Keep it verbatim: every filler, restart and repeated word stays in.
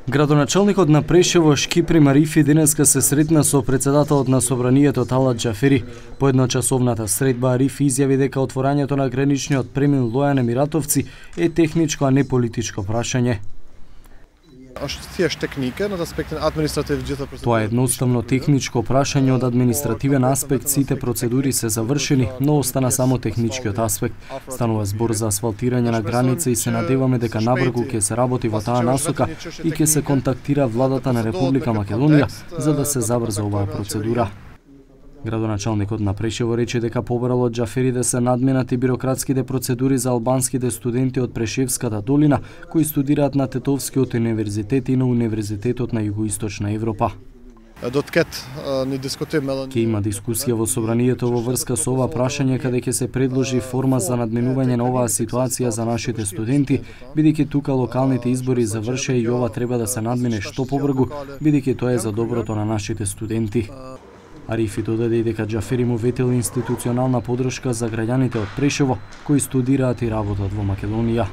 Градоначалникот на Прешево Шкипри Марифи денеска се сретна со председателот на собранието Талат Џафери. По едночасовната средба Арифи изјави дека отворањето на граничниот премин Лојан Емиратовци е техничко, а не политичко прашање. Тоа е едноставно техничко прашање од административен аспект, сите процедури се завршени, но остана само техничкиот аспект. Станува збор за асфалтирање на граница и се надеваме дека набрзо ќе се работи во таа насока и ќе се контактира владата на Република Македонија за да се забрза оваа процедура. Градоначалникот на Прешево рече дека побарал од Џафери да се надминати бирократските процедури за албанските студенти од Прешевската долина кои студираат на Тетовскиот универзитет и на Универзитетот на Југоисточна Европа. Ќе има дискусија во собранието во врска со ова прашање каде ќе се предложи форма за надминување на оваа ситуација за нашите студенти, бидејќи тука локалните избори завршеа и ова треба да се надмине што побрзо, бидејќи тоа е за доброто на нашите студенти. Арифи додаде дека Џафери му ветил институционална поддршка за граѓаните од Прешево кои студираат и работат во Македонија.